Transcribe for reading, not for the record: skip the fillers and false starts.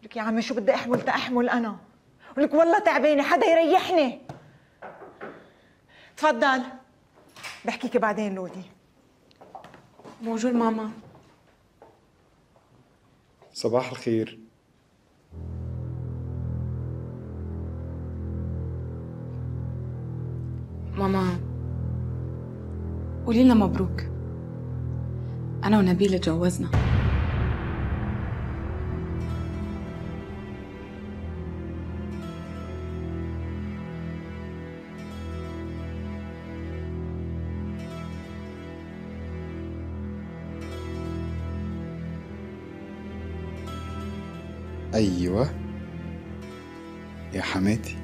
لك يا عمي شو بدي احمل تأحمل انا؟ ولك والله تعبانه، حدا يريحني. تفضل، بحكيكي بعدين لودي. بونجور ماما. صباح الخير. ماما قولي لنا مبروك، أنا ونبيل اتجوزنا. أيوة يا حماتي.